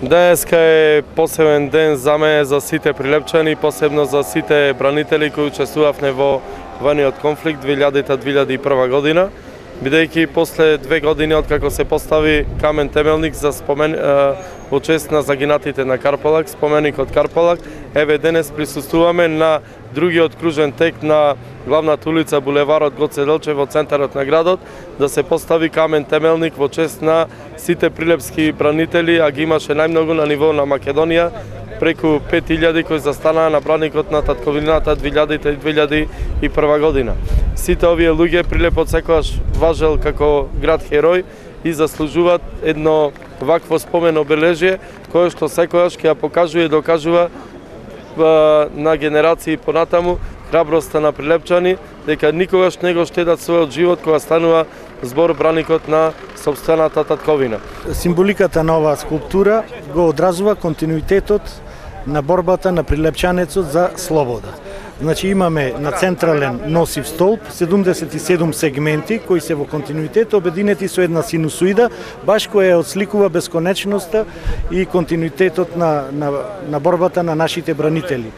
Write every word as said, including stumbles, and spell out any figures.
Денеска е посебен ден за мене, за сите прилепчани, посебно за сите бранители кои учествувавме во војниот конфликт две илјади до две илјади и прва година, бидејќи после две години откако се постави камен темелник за спомен во чест на загинатите на Карполак, споменикот Карполак, еве денес присуствуваме на другиот кружен тек на главната улица булеварот Гоце Делчев во центарот на градот, да се постави камен темелник во чест на сите прилепски бранители, а ги имаше најмногу на ниво на Македонија, преку пет илјади кои застанаа на браникот на татковината две илјади до две илјади и прва година. Сите овие луѓе Прилепот секогаш важел како град херој и заслужуваат едно вакво спомен обележје кое што секогаш ќе ја покажува и докажува на генерации понатаму храброста на прилепчани, дека никогаш не го штедат својот живот кога станува збор браникот на сопствената татковина. Символиката на оваа скулптура го одразува континуитетот на борбата на прилепчанецот за слобода. Значи имаме на централен носив столб седумдесет и седум сегменти кои се во континуитет обединети со една синусоида, баш која отсликува бесконечноста и континуитетот на, на, на борбата на нашите бранители.